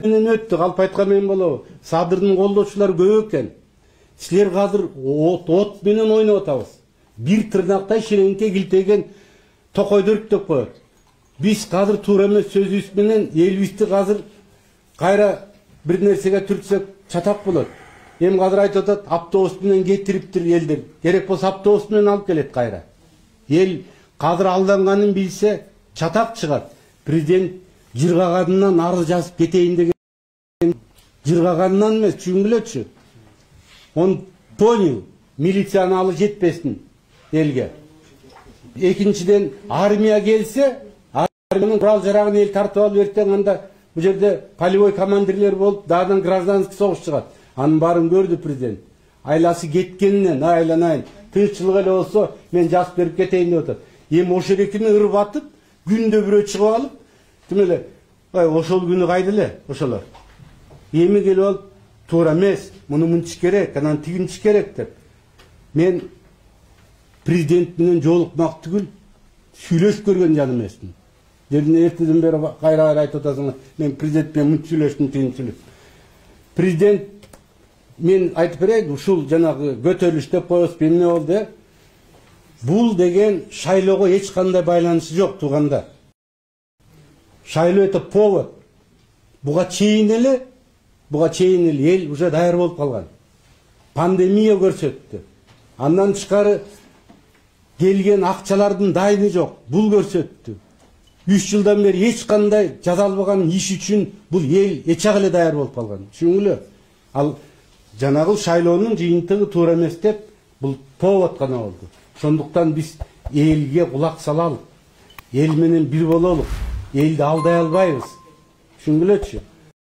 менен өттү, калп айткан болобу. Садырдын колдоочулары көп экен. Силер азыр от менен ойноп атабыз. Бир тырнактай ширеңке килтеген токойду өрктөп коет. Биз азыр туура эмес сөзүбүз менен элибизди азыр кайра бир нерсеге түртсөк чатак болот. Эми азыр айтып атат, автобус менен кетириптир элдер. Керек болсо автобус менен алып келет кайра. Эл азыр алданганын билсе чатак чыгат. Президент жыргаганынан арыз жазып кетейин деген. Жыргаганынан эмес, түшүнгүлөчү. Он понял, милицияны алы жетпесин элге. Экинчиден, армия келсе, армиянын курал жарагын эл тартып алып эртең анда бу жерде полевой командирлер болуп, дагы гражданский согуш чыгат. Анын баарын көрдү президент. Айласы кеткенинен айланайын. Тынччылык эле болсо мен жазып берип кетейин деп атат. Эми ошол экини ырып атып, күндө бирөө чыгып алып, тим эле, ошол күнү кайда эле ошолор. Эми келип алып, туура эмес, муну мынча керек, анан тигинчи керек деп. Мен президент менен жолукмак түгүл, сүйлөшүп көргөн жан эмесмин. Эртеден бери кайра айтып атасың, мен президент менен мынча сүйлөштүм, тигинчи сүйлөштүм. Президент мен айтып берейин, ушул жанагы көтөрүлүш деп коебуз, эмне болду? Бул деген шайлоого эч кандай байланышы жок тууганда. Шайлоо это повод. Буга чейин эле эл уже даяр болуп калган. Пандемия көрсөттү. Андан тышкары келген акчалардын дайыны жок. Бул көрсөттү. 3 жылдан бери эч кандай жазалбаган иш үчүн бул эл эчак эле даяр болуп калган. Түшүнгүлө? Ал жанагы шайлоонун жыйынтыгы туура эмес деп, бул повод гана болду. Ошондуктан биз элге кулак салалык. Эл менен бир бололук. Элди алдай албайбыз. Түшүнгүлөчү?